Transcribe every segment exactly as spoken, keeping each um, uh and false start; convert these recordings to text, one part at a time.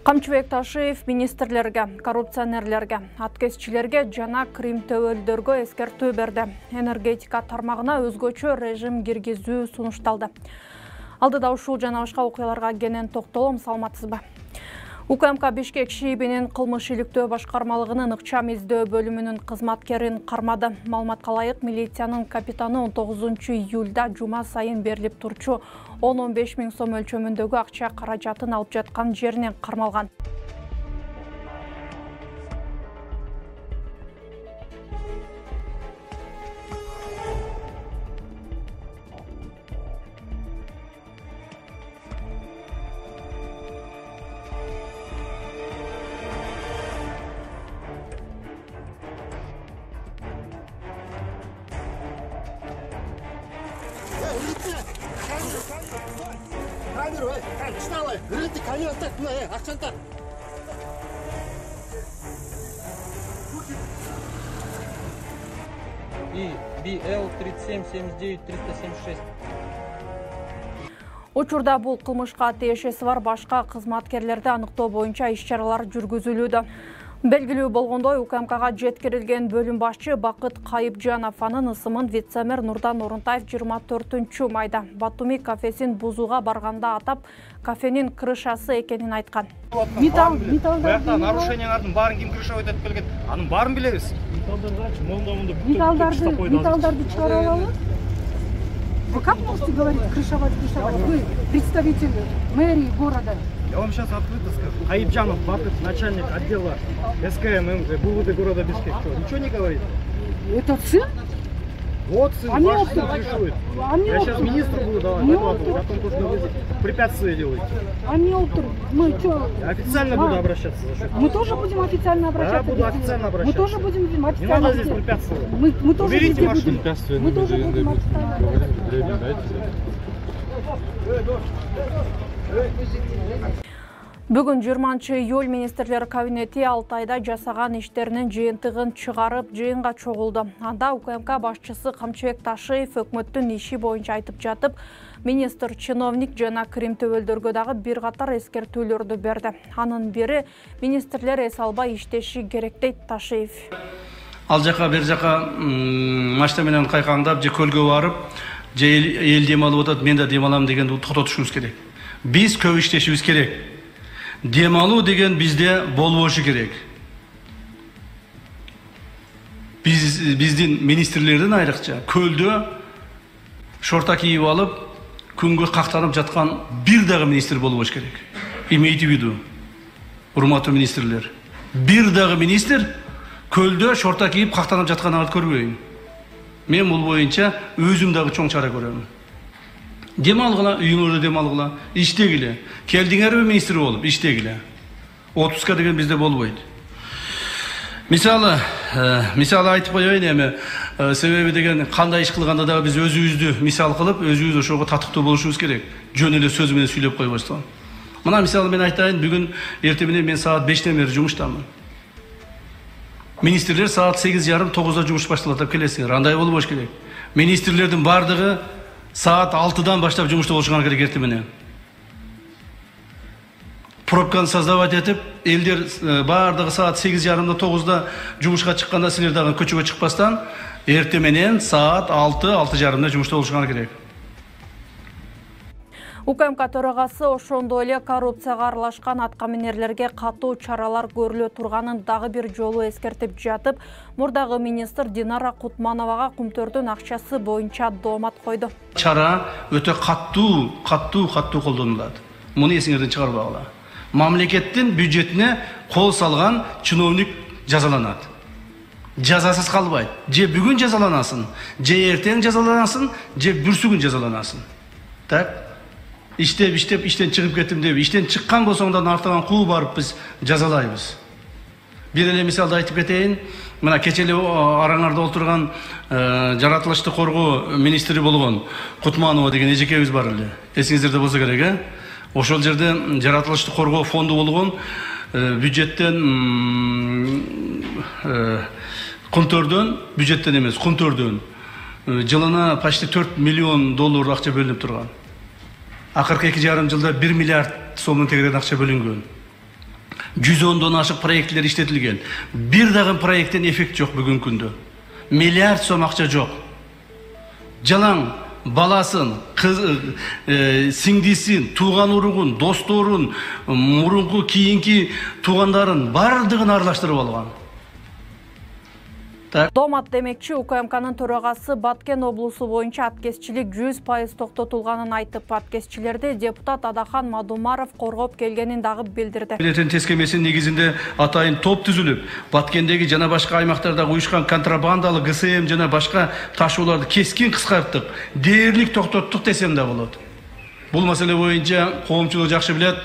Камчыбек Ташиев министрлерге, коррупционерлерге, аткезчилерге жана Крим төбөлдөргө эскертүү берди. Энергетика тармагына өзгөчө режим киргизүү сунушталды. Алдыда ушул жана башка окуяларга кенен токтолом, саламатсызбы? УКМК Бишкек ШИИБинин кылмыш иликтөө башкармалыгынын ыкчам издөө бөлүмүнүн кызматкерин кармады. Маалыматка ылайык, милициянын капитаны он тогузунчу июлда жума сайын берилип турчу он он беш миң сом өлчөмүндөгү акча каражатын алып жаткан жеринен кармалган. И би эл тридцать семь семьдесят девять триста семьдесят шесть. Учурда бул кылмышка тиешеси бар башка кызматкерлерди аныктоо боюнча иш-чаралар жүргүзүлүүдө. Белгилүү болгондой, УКМКга жеткирилген бөлүм башчы Бакыт Кайыпжанов анын ысымын вице-мэр Нурдан Орунтаев жыйырма төртүнчү майда Батуми кафесин бузууга барганда атап, кафенин крышасы экенин айткан. Металл, металлдар, нарушениялардын баарын ким крышалап өтүп келген? Анын баарын билебиз. Металлдарды, монда-монда бүтүп металлдарды чыгара алалы. Вы как можете говорить крышевать, крышевать? Вы представитель мэрии города. Я вам сейчас открыто скажу. Кайыпжанов Бакыт, начальник отдела эс ка эм эм БУВД города Бишкек. Что, ничего не говорит? Это сын? Вот сын, они ваш сын крышует. Они Я сейчас министру буду давать докладывать о том, что вы препятствия делаете. Они утро. Мы что? Я официально а? буду обращаться за счет. Мы тоже будем официально обращаться. Да, буду официально обращаться. Мы тоже будем официально. Не надо здесь препятствовать. Мы, мы тоже Уберите будем. машину. Мы тоже будем официально. Бүгүн жыйырманчы июль министрлер кабинети алты айда жасаган иштеринин жыйынтыгын чыгарып, жыйынга чогулду. Анда УКМК башчысы Камчыбек Ташиев өкмөттүн иши боюнча айтып жатып, министр, чиновник жана Крим төбөлдөргө дагы бир катар эскертүүлөрдү берди. Анын бири министрлер эс албай иштеши керек дейт Ташиев. Ал жака бер жака машина менен кайкаңдап же көлгө барып, же эл дем алып атат, мен да дем алам дегенди токтотушубуз керек. Биз көп иштешибиз керек. Дем алуу деген бизде болбошу керек. Биз биздин министрлердин айрыкча көлдө шорта кийип алып, күнгө кактанып жаткан бир дагы министр болбош керек. Имейте в виду, урматтуу министрлер. Бир дагы министр көлдө шорта кийип кактанып жатканын көрбөйм. Мен бул боюнча өзүм дагы чоң чара көрөм. Дем алгыла, үйүңөрдө дем алгыла, иштегиле. Келдиңерби министр болуп, иштегиле. отузга деген бизде болбойт. Мисалы, мисалы айтып коеюн эми, себеби деген кандай иш кылганда дагы биз өзүбүздү мисал кылып, өзүбүз ошого татыктуу болушубуз керек. Жөн эле сөз менен сүйлөп койбостон. Мына мисалы мен айтайын, бүгүн эртең менен мен саат бештен бери жумуштамын. Министрлер саат сегиз жарым тогузда жумуш башталат деп келесиңер. Андай болбош керек. Министрлердин бардыгы саат алтыдан баштап жумушта болушуңар керек эртең менен. Пробканы создавать этип, элдер бардыгы саат сегиз жарымда тогузда жумушка чыкканда силер дагы көчөгө чыкпастан, эртең менен саат алты алты жарымда жумушта болушуңар керек. УКМК төрагасы ошондой эле коррупцияга аралашкан аткаминерлерге катуу чаралар көрүлө турганын дагы бир жолу эскертип жатып, мурдагы министр Динара Кутмановага кумтөрдүн акчасы боюнча доомат койду. Чара өтө каттуу, каттуу, каттуу колдонулат. Муну эсиңерден чыгарбагыла. Мамлекеттин бюджетине кол салган чиновник жазаланат. Жазасыз калбайт. Же бүгүн жазаланасын, же эртең жазаланасын, же бүрсүгүн жазаланасын. Так? Иштеп, иштеп, иштен чыгып кеттим деп, иштен чыккан болсоңдан артынан куу барып биз жазалайбыз. Бир эле мисалды айтып кетейин. Мына кече эле араңарда отурган жаратылышты коргоо министри болгон Кутманова деген эжекебиз бар эле. Эсиңиздерде болсо керек, э? Ошол жерде жаратылышты коргоо фонду болгон бюджеттен кумтөрдөн, бюджеттен эмес, кумтөрдөн жылына почти төрт миллион доллар акча бөлүнүп турган. Акыркы эки жарым жылда бир миллиард сомдон тегерен акча бөлүнгөн. жүз ондон ашык проектлер иштетилген. Бир дагы проекттен эффект жок бүгүнкү күндө. Миллиард сом акча жок. Жалаң баласын, кыз, э, сиңдисин, тууган уругун, досторун, мурунку кийинки туугандарын бардыгын аралаштырып алган. Домат демекчи УКМКнын төрагасы Баткен облусу боюнча аткезчилик жүз пайыз токтотулганын айтып, аткезчилерди депутат Адахан Мадумаров коргоп келгенин дагы билдирди. Билетин тескемесинин негизинде атайын топ түзүлүп, Баткендеги жана башка аймактарда уюшкан контрабандалык Г С М жана башка ташууларды кескин кыскарттык, дээрлик токтоттук десем да болот. Бул маселе боюнча коомчулук жакшы билет.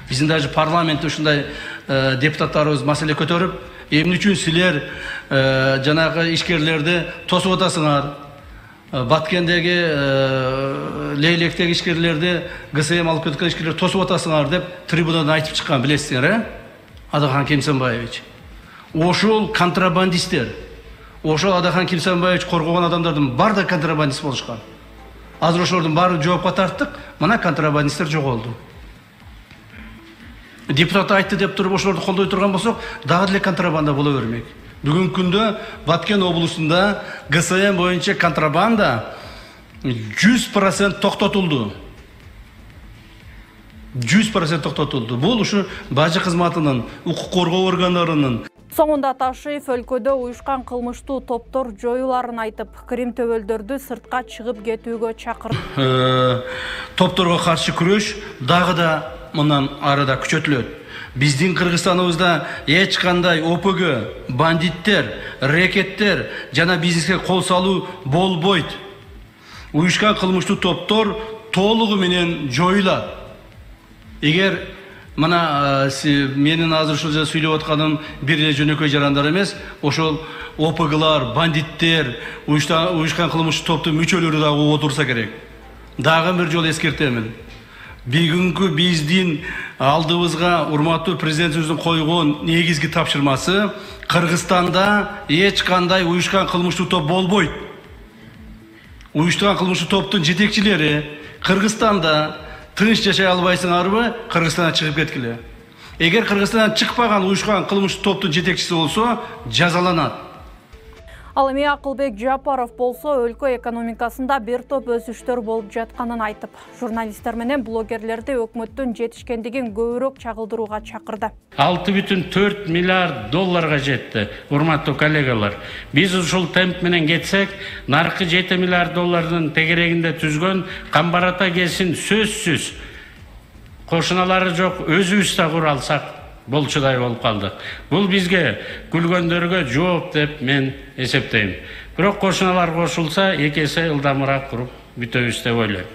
Биздин даже парламентте ушундай депутаттарыбыз маселе көтөрүп, эмне үчүн силер жанагы ишкерлерди тосуп атасыңар? Баткендеги Лейлектеги ишкерлерди Г С М алып кеткен ишкерлерди тосуп атасыңар деп трибунадан айтып чыккан, билесиңер, э? Адахан Кемсенбаевич. Ошол контрабандисттер. Ошол Адахан Кемсенбаевич коргогон адамдардын баары да контрабандист болушкан. Азыр ошолордун баарын жоопко тарттык, мына контрабандисттер жоголду. Депутат айтты деп туруп ошолорду колдой турган болсок, дагы деле контрабанда боло бермек. Бүгүнкү күндө Баткен облусунда Г С М боюнча контрабанда жүз процент токтотулду. жүз процент токтотулду. Бул ушу бажы кызматынын, укук коргоо органдарынын. Соңунда Ташиев өлкөдө уюшкан кылмыштуу топтор жоюларын айтып, Крим төбөлдөрдү сыртка чыгып кетүүгө чакырды. Топторго каршы күрөш дагы да мындан арада күчөтүлөт. Биздин Кыргызстаныбызда эч кандай О П Г, бандиттер, рекеттер жана бизнеске кол салуу болбойт. Уюшкан кылмыштуу топтор толугу менен жоюлат. Эгер мына менин азыр ушул жерде сүйлөп атканым бир эле жөнөкөй жарандар эмес, ошол О П Глар, бандиттер, уюшкан кылмыштуу топтун мүчөлөрү дагы отурса керек. Дагы бир жолу эскертемин. Бүгүнкү биздин алдыбызга урматтуу президентибиздин койгон негизги тапшырмасы Кыргызстанда эч кандай уюшкан кылмыштуу топ болбойт. Уюштурган кылмыштуу топтун жетекчилери Кыргызстанда тынч жашай албайсыңарбы, Кыргызстандан чыгып кеткиле. Эгер Кыргызстандан чыкпаган уюшкан кылмыштуу топтун жетекчиси болсо, жазаланат. Ал эми Акылбек Жапаров болсо өлкө экономикасында бир топ өсүштөр болуп жатканын айтып, журналисттер менен блогерлерди өкмөттүн жетишкендигин көбүрөөк чагылдырууга чакырды. алты бүтүн төрт миллиард долларга жетти, урматтуу коллегалар. Биз ушул темп менен кетсек, наркы жети миллиард доллардын тегерегинде түзгөн Камбарата кесин сөзсүз кошуналары жок өзүбүз да кура алсак болчудай болуп калдык. Бул бизге күлгөндөргө жооп деп мен эсептейм. Бирок кошуналар кошулса, эки эсе ылдамыраак куруп бүтөбүз деп ойлойм.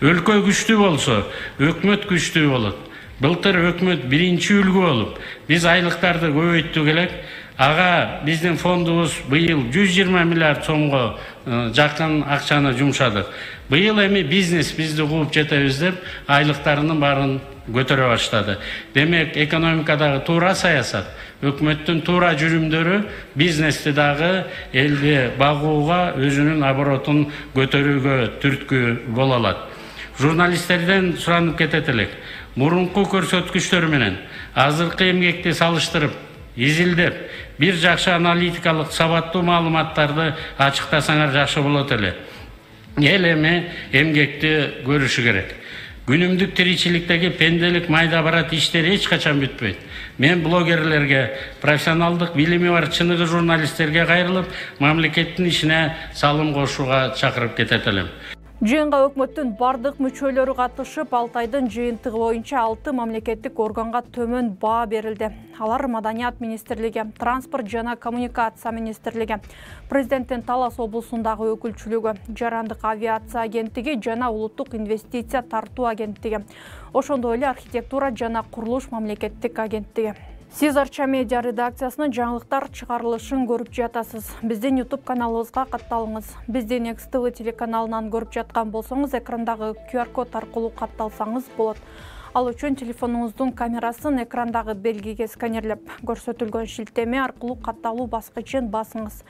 Өлкө күчтүү болсо, өкмөт күчтүү болот. Былтыр өкмөт биринчи үлгү болуп, биз айлыктарды көбөйттүк элек. Ага биздин фондубуз быйыл жүз жыйырма миллиард сомго жакын акчаны жумшадык. Быйыл эми бизнес бизди кууп жетебиз деп айлыктарынын баарын көтөрө баштады. Демек, экономикадагы туура саясат, өкмөттүн туура жүрүмдөрү бизнести дагы элди багууга, өзүнүн оборотун көтөрүүгө түрткү боло алат. Журналисттерден суранып кетет элек. Мурунку көрсөткүчтөр менен азыркы эмгекти салыштырып, изилдеп, бир жакшы аналитикалык сабаттуу маалыматтарды ачыктасаңар жакшы болот эле. Эл эми эмгекти көрүшү керек. Күнүмдүк тиричиликтеги пенделик майда барат иштери эч качан бүтпөйт. Мен блогерлерге, профессионалдык билими бар чыныгы журналисттерге кайрылып, мамлекеттин ишине салым кошууга чакырып кетет элем. Жыйынга өкмөттүн бардык мүчөлөрү катышып, алты айдын жыйынтыгы боюнча алты мамлекеттик органга төмөн баа берилди. Алар Маданият министрлиги, Транспорт жана коммуникация министрлиги, Президенттин Талас облусундагы өкүлчүлүгү, Жарандык авиация агенттиги жана Улуттук инвестиция тартуу агенттиги. Ошондой эле архитектура жана курулуш мамлекеттик агенттиги. Сиз Арча медиа редакциясынын жаңылыктар чыгарылышын көрүп жатасыз. Биздин YouTube каналыбызга катталыңыз. Биздин Next T V телеканалынан көрүп жаткан болсоңуз, экрандагы Q R код аркылуу катталсаңыз болот. Ал үчүн телефонуңуздун камерасын экрандагы белгиге сканерлеп, көрсөтүлгөн шилтеме аркылуу катталуу баскычын басыңыз.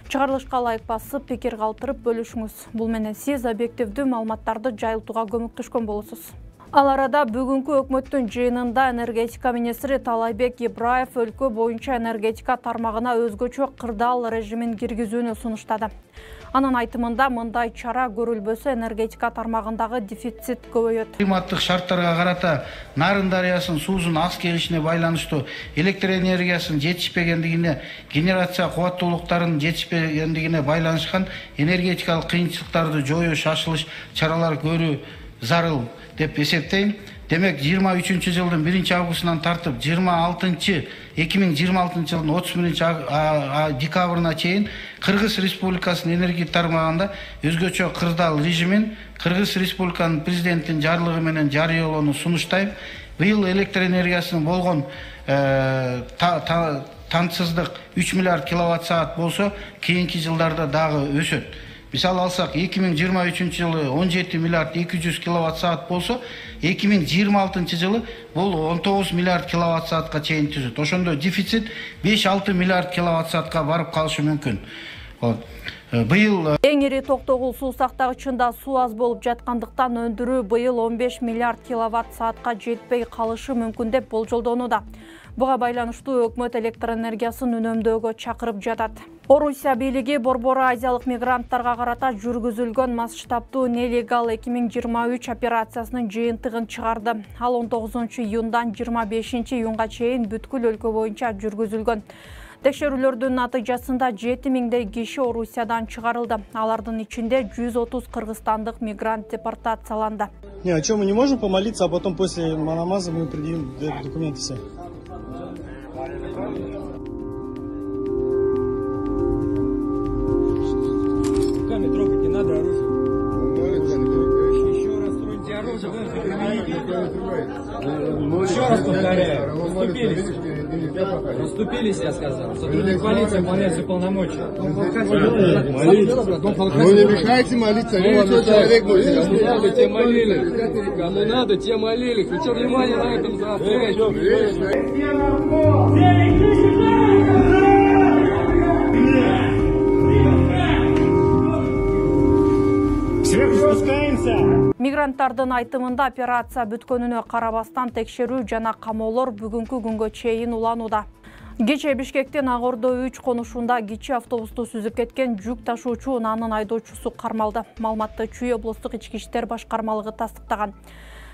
Чыгарылышка ылайык басып, пикир калтырып бөлүшүңүз. Бул менен сиз объективдүү маалыматтарды жайылтууга көмөктөшкөн болосуз. Ал арада бүгүнкү өкмөттүн жыйынында энергетика министри Талайбек Ибраев өлкө боюнча энергетика тармагына өзгөчө кырдаал режимин киргизүүнү сунуштады. Анын айтымында мындай чара көрүлбөсө энергетика тармагындагы дефицит көбөйөт. Климаттык шарттарга карата Нарын дарыясынын суусунун аз келишине байланыштуу электр энергиясынын жетишпегендигине, генерация кубаттуулуктарынын жетишпегендигине байланышкан энергетикалык кыйынчылыктарды жоюу шашылыш чаралар көрүү зарыл деп эсептейм. Демек жыйырма үчүнчү жылдын биринчи августунан тартып жыйырма алтынчы эки миң жыйырма алтынчы жылдын отуз биринчи декабрына чейин Кыргыз Республикасынын энергия тармагында өзгөчө кырдаал режимин Кыргыз Республиканын президентинин жарлыгы менен жарыялоону сунуштайм. Быйыл электр энергиясынын болгон тантсыздык үч миллиард киловатт саат болсо, кийинки жылдарда дагы өсөт. Мисалы алсак, эки миң жыйырма үчүнчү жылы он жети миллиард эки жүз киловатт саат болсо, эки миң жыйырма алтынчы жылы бул он тогуз миллиард киловатт саатка чейин түзөт. Ошондо дефицит беш алты миллиард киловатт саатка барып калышы мүмкүн. Быйыл эң ири токтогул суу сактагычында суу аз болуп жаткандыктан өндүрүү быйыл он беш миллиард киловатт саатка жетпей калышы мүмкүн деп болжолдонууда. Буга байланыштуу өкмөт электр энергиясын үнөмдөөгө чакырып жатат. Орусия бийлиги Борбор азиялык мигранттарга карата жүргүзүлгөн масштабтуу нелегал эки миң жыйырма үч операциясынын жыйынтыгын чыгарды. Ал он тогузунчу июндан жыйырма бешинчи июнга чейин бүткүл өлкө боюнча жүргүзүлгөн. Текшерүүлөрдүн натыйжасында жети миңдей киши Орусиядан чыгарылды. Алардын ичинде жүз отуз кыргызстандык мигрант депортацияланды. Не, а что, мы не можем помолиться, а потом после намаза мы предъявим документы все? Руками трогать не надо оружие. Еще раз троньте оружие, вы Еще раз повторяю, расступились. Расступились, я сказал. Сотрудник полиции выполняет свои полномочия. Ну не мешайте молиться, видите, человек может. Кому надо, те молились. Кому надо, те молились. Вы что, внимание на этом заостряете? Мигранттардын айтымында операция бүткөнүнө карабастан текшерүү жана камоолор бүгүнкү күнгө чейин уланууда. Кечээ Бишкектин Ак Ордо үч конушунда кичи автобусту сүзүп кеткен жүк ташуучу анын айдоочусу кармалды. Маалыматты Чүй облустук ички иштер башкармалыгы тастыктаган.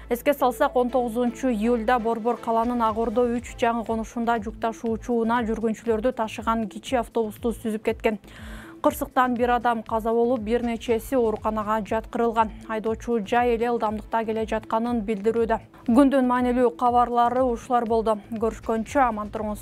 Эске салсак, он тогузунчу июлда Борбор каланын Ак Ордо үч жаңы конушунда жүк ташуучуна жүргүнчүлөрдү ташыган кичи автобусту сүзүп кеткен. Кырсыктан бир адам каза болуп, бир нечеси ооруканага жаткырылган. Айдоочу жай эле ылдамдыкта келе жатканын билдирүүдө. Күндүн маанилүү кабарлары ушулар болду. Көрүшкөнчө аман туруңуз.